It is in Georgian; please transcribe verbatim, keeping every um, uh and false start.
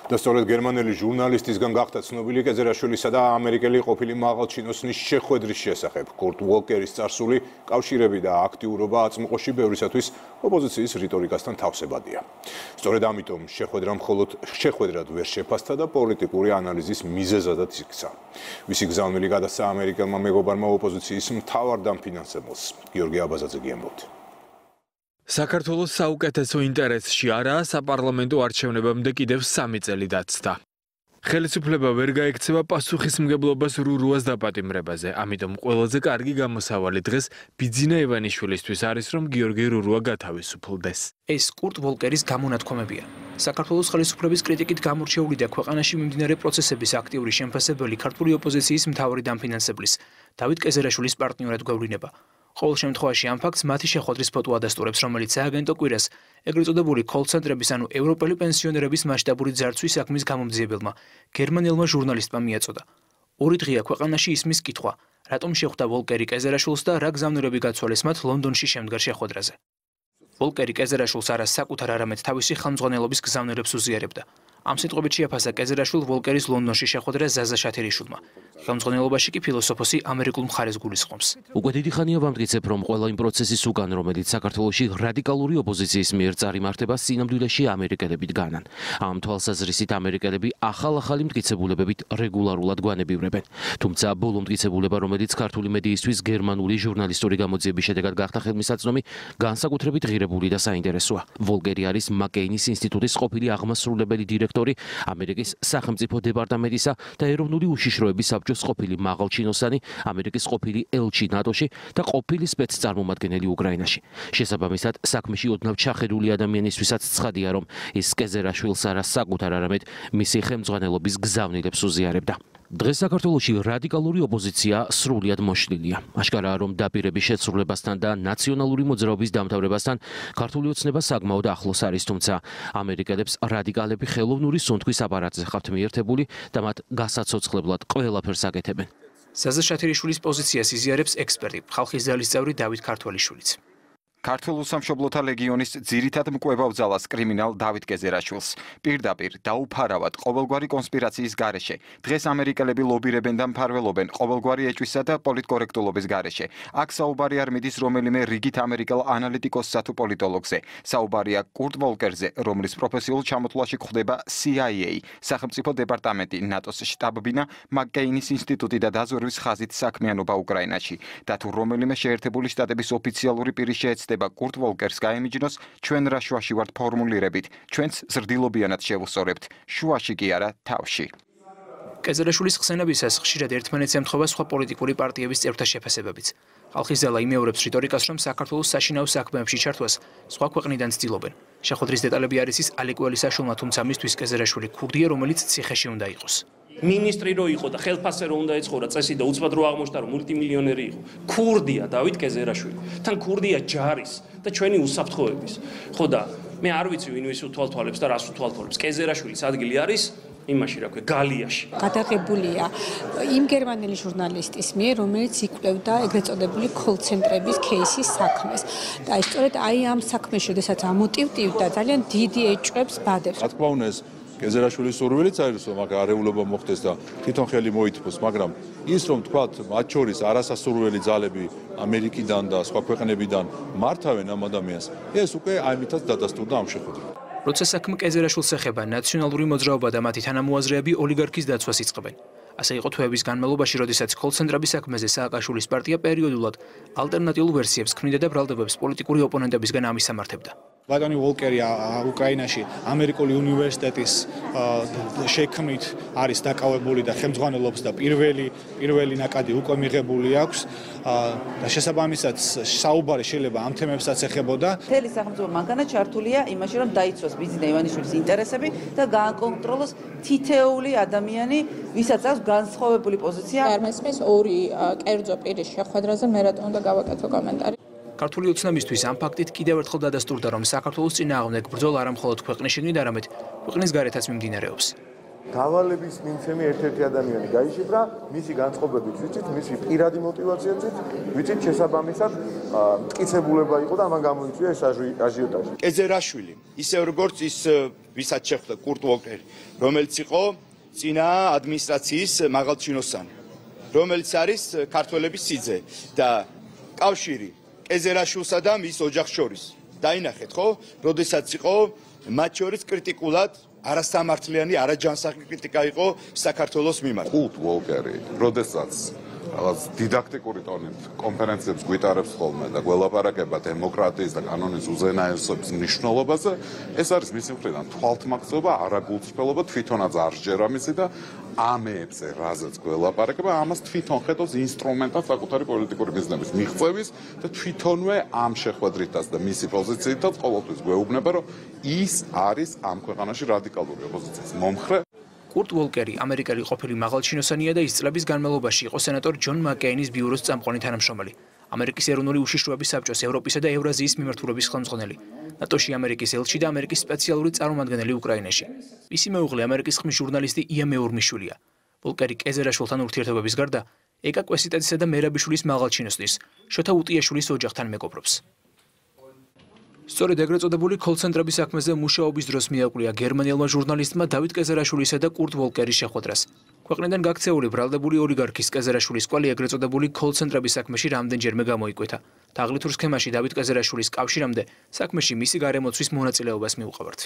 და სწორედ გერმანელი ჟურნალისტისგან გახდა ცნობილი კეზერაშვილისა და ამერიკელი ყოფილი მაღალჩინოსნის შეხვედრის შესახებ. კურტ ვოლკერის წარსული კავშირები და აქტიურობა აწმყოში ბევრისათვის ოპოზიციის რიტორიკასთან თავსებადია. სწორედ ამიტომ შეხვედრა მხოლოდ შეხვედრად ვერ შეფასდა და პოლიტიკური ანალიზის მიზეზადაც იქცა. მისი გზავნილი გადასცა ამერიკელმა მეგობარმა ოპოზიციის მთავარ დამფინანსებელს. გიორგი აბაზაძე გიამბობთ. საქართველოს საუკეთესო ინტერესში არაა საპარლამენტო არჩევნებამდე კიდევ სამი წელი დაცდა. ხელისუფლება ვერ გაექცევა პასუხისმგებლობას რურუას დაპატიმრებაზე, ამიტომ ყველაზე კარგი გამოსავალი დღეს ბიძინა ივანიშვილისთვის არის, რომ გიორგი რურუა გათავისუფლდეს. ეს კურტ ვოლკერის გამონათქვამებია. საქართველოს ხელისუფლების კრიტიკით გამორჩეული და ქვეყანაში მიმდინარე პროცესების აქტიური შემფასებელი ქართული ოპოზიციის მთავარი დამფინანსებლის დავით კეზერაშვილის პარტნიორად გვევლინება. ყოველ შემთხვევაში ამ ფაქტს მათი შეხვედრის ფოტო ადასტურებს, რომელიც სააგენტო კვირას ეგრეთ წოდებული კოლ-ცენტრების ანუ ევროპელი პენსიონერების მასშტაბური ძარცვის საქმის გამომძიებელმა გერმანელმა ჟურნალისტმა მიაწოდა. ორი დღეა ქვეყანაში ისმის კითხვა, რატომ შეხვდა ვოლკერი კეზერაშვილს და რა გზავნილები გაცვალეს მათ ლონდონში შემდგარ შეხვედრაზე. ვოლკერი კეზერაშვილს არა საკუთარ არამედ თავისი ხელმძღვანელობის გზავნილებს უზიარებდა. ამ სიტყვებით შეაფასა კეზერაშვილ ვოლკერის ლონდონში შეხვედრა ზაზა შათერიშვილმა. ხელმძღვანელობაში კი ფილოსოფოსი ამერიკულ მხარეს გულისხმობს. უკვე დიდი ხანია ვამტკიცებ, რომ ყველა იმ პროცესის უკან, რომელიც საქართველოში რადიკალური ოპოზიციის მიერ წარიმართება, სინამდვილეში ამერიკელებით განან. ამ თვალსაზრისით ამერიკელები ახალ-ახალი მტკიცებულებებით რეგულარულად გვანებივრებენ. თუმცა ბოლო მტკიცებულება, რომელიც ქართული მედიისთვის გერმანული ჟურნალისტური გამოძიების შედეგად გახდა ხელმისაწვდომი, განსაკუთრებით ღირებული და საინტერესოა. ვოლკერი არის მაკეინის ინსტიტუტის ყოფილი აღმასრულებელი დირექტორი ამერიკის სახელმწიფო დეპარტამენტისა და ეროვნული უშიშროების საბჭოს ყოფილი მაღალჩინოსანი, ამერიკის ყოფილი ელჩი ნატოში და ყოფილი სპეცწარმომადგენელი უკრაინაში. შესაბამისად, საქმეში ოდნავ ჩახედული ადამიანისთვისაც ცხადია, რომ ის კეზერაშვილს არა საკუთარ, არამედ მისი ხელმძღვანელობის გზავნილებს უზიარებდა. დღეს საქართველოში რადიკალური ოპოზიცია სრულიად მოშლილია. აშკარაა, რომ დაპირების შეცვლილებასთან და ნაციონალური მოძრაობის დამთავრებასთან ქართული ოცნება საკმაოდ ახლოს არის, თუმცა ამერიკელებს რადიკალები ხელოვნური სუნთქვის აპარატზე ხართ მიერთებული და მათ გასაცოცხლებლად ყველაფერს აკეთებენ. ზაზა შათერიშვილის პოზიციას იზიარებს ექსპერტი, ხალხის ძალის წევრი დავით ქართველიშვილიც. ქართულ უსამშობლოთა ლეგიონის ძირითად მკვლევარ ძალას კრიმინალ დავით კეზერაშვილს პირდაპირ დაუფარავად ყოველგვარი კონსპირაციის გარეშე. დღეს ამერიკელები ლობირებენ და მფარველობენ ყოველგვარი ეჭვისა და პოლიტკორექტულობის გარეშე. აქ საუბარი არ მიდის რომელიმე რიგით ამერიკელ ანალიტიკოსსა თუ პოლიტოლოგზე. საუბარია კურტ ვოლკერზე, რომლის პროფესიულ ჩამოთვლაში გვხვდება სი აი ეი, სახელმწიფო დეპარტამენტი, ნატოს შტაბ-ბინა, მაკეინის ინსტიტუტი და დაზვერვის ხაზით საქმიანობა უკრაინაში. და თუ რომელიმე შეერთებული შტატების ოფიციალური პირი შეეცდება კურტ ვოლკერს გაემიჯნოს, ჩვენ რა შუაში ვართ ფორმულირებით, ჩვენც ზრდილობიანად შევუსწორებთ, შუაში კი არა თავში. კეზერაშვილის ხსენებისას ხშირად ერთმანეთს ემთხვევა სხვა პოლიტიკური პარტიების წევრთა შეფასებებიც. ხალხის ძალა იმეორებს რიტორიკას, რომ საქართველოს საშინაო საქმეებში ჩართვას სხვა ქვეყნიდან ცდილობენ. შეხვედრის დეტალები არის ის ალეკ ველისაშვილმა, თუმცა მისთვის კეზერაშვილი ქურდია, რომელიც ციხეში უნდა იყოს. მინისტრი რო იყო და ხელფასე რო უნდა ეცხოვრა წესი და უცბად რო აღმოჩნდა რომ მულტიმილიონერი იყო. ქურდია დავით კეზერაშვილი. თან ქურდია ჯარის და ჩვენი უსაფრთხოების. ხო და მე არ ვიცი ვინ ვის უთვალთვალებს და რას უთვალთვალებს. კეზერაშვილის ადგილი არის იმაში რა ქვია გალიაში. გადაღებულია იმ გერმანელი ჟურნალისტის მიერ, რომელიც იკვლევდა ეგრეთ წოდებული კოლ-ცენტრების кейსის საქმეს. და სწორედ აი ამ საქმეში, შესაძაც ამოტივტივდა ძალიან დიდი ეჭვებს ბადებს. რა თქმა უნდა, კეზერაშვილის სურვილიც არის, რომ აქ არეულობა მოხდეს და თვითონ ხელი მოითმოს, მაგრამ ის რომ თქვათ, მათ შორის არასასურველი ძალები ამერიკიდან და სხვა ქვეყნებიდან მართავენ ამ ადამიანს, ეს უკვე აიმითაც დადასტურდა ამ შეხვედრით. როცა საქმე კეზერაშვილს ეხება, ნაციონალური მოძრაობა და მათი თანამოაზრეები ოლიგარქის დაცვას იწყებენ. ასე იყო თვეების განმავლობაში, როდესაც კოლ-ცენტრების საქმეზე სააკაშვილის პარტია პერიოდულად ალტერნატიულ ვერსიებს ქმნიდა და ბრალდებებს პოლიტიკური ოპონენტებისგან ამისამართებდა. ბატონი ვოლკერი უკრაინაში ამერიკული უნივერსიტეტის შექმნით არის დაკავებული და ხელმძღვანელობს და პირველი პირველი ნაკადი უკვე მიღებული აქვს და შესაბამისად საუბარი შეიძლება ამ თემებსაც ეხებოდა. მთელი სახელმწიფო მანქანა ჩართულია იმაში, რომ დაიცვას ბიძინა ივანიშვილის ინტერესები და გააკონტროლოს თითეული ადამიანი, ვისაც აქვს განსხვავებული პოზიცია. არ მესმის ორი კერძო პირის შეხვედრაზე მე რატომ უნდა გავაკეთო კომენტარი. ქართული ოცნებისთვის ამ ფაქტით კიდევ ერთხელ დადასტურდა, რომ საქართველოს წინააღმდეგ ბრძოლა არა მხოლოდ ქვეყნის შიგნით, არამედ ქვეყნის გარეთაც მიმდინარეობს. დავალების მიმცემი ერთ-ერთი ადამიანი გაიშიფრა, მისი განწყობებით ვიცით, მისი პირადი მოტივაციაც ვიცით, შესაბამისად მტკიცებულება იყო და ამან გამოიწვია ეს აჟიოტაჟი. კეზერაშვილი, ისე როგორც ის ვისაც შეხვდა კურტ უოკერი, რომელიც იყო წინა ადმინისტრაციის მაღალჩინოსანი, რომელიც არის ქართველების სიძე და კავშირი კეზერაშვილსა და მის ოჯახს შორის. დაინახეთ, ხო, როდესაც იყო მათ შორის კრიტიკულად არასამართლიანი, არაჯანსაღი კრიტიკა იყო საქართველოს მიმართ. კურტ უოკერი, როდესაც რაღაც დიდაქტიკური ტონით კონფერენციებს გვიტარებს ხოლმე და გველაპარაკება დემოკრატიის და კანონის უზენაესობის მნიშვნელობაზე, ეს არის მისი მხრიდან თვალთმაქცეობა, არაგულწრფელობა, თვითონაც არ სჯერა მისი და ამეებზე, რაზეც გველაპარაკება, ამას თვითონ ხედავს ინსტრუმენტად საკუთარი პოლიტიკური მიზნების მიღწევის და თვითონვე ამ შეხვედრითაც და მისი პოზიციითაც ყოველთვის გვეუბნება, რომ ის არის ამ ქვეყანაში რადიკალური ოპოზიციის მომხრე. კურტ უოლკერი ამერიკელი ყოფილი მაღალჩინოსანია და ის წლების განმავლობაში იყო სენატორ ჯონ მაკეინის ბიუროს წამყვანი თანამშრომელი, ამერიკის ეროვნული უშიშროების საბჭოს ევროპისა და ევრაზიის მიმართულების ხელმძღვანელი, ნატოში ამერიკის ელჩი და ამერიკის სპეციალური წარმომადგენელი უკრაინაში. მისი მეუღლე ამერიკის ხმის ჟურნალისტი ია მეურმიშვილია. უოლკერი კეზერაშვილთან ურთიერთობების გარდა ეკა კვესიტაძისა და მერაბიშვილის მაღალჩინოსნის, შოთა უტიაშვილის ოჯახთან მეგობრობს. სწორედ ეგრეთ წოდებული კოლ-ცენტრების საქმეზე მუშაობის დროს მიაკვია გერმანელმა ჟურნალისტმა დავით კეზერაშვილისა და კურტ უოლკერის შეხვედრას. ქვეყნიდან გაქცეული ბრალდებული ოლიგარქის კეზერაშვილის კვალი ეგრეთ წოდებული კოლ-ცენტრების საქმეში რამდენჯერმე გამოიკვეთა. თაღლითურ სქემაში დავით კეზერაშვილის კავშირამდე საქმეში მისი გარემოცვის მონაწილეობას მიუყვებართ.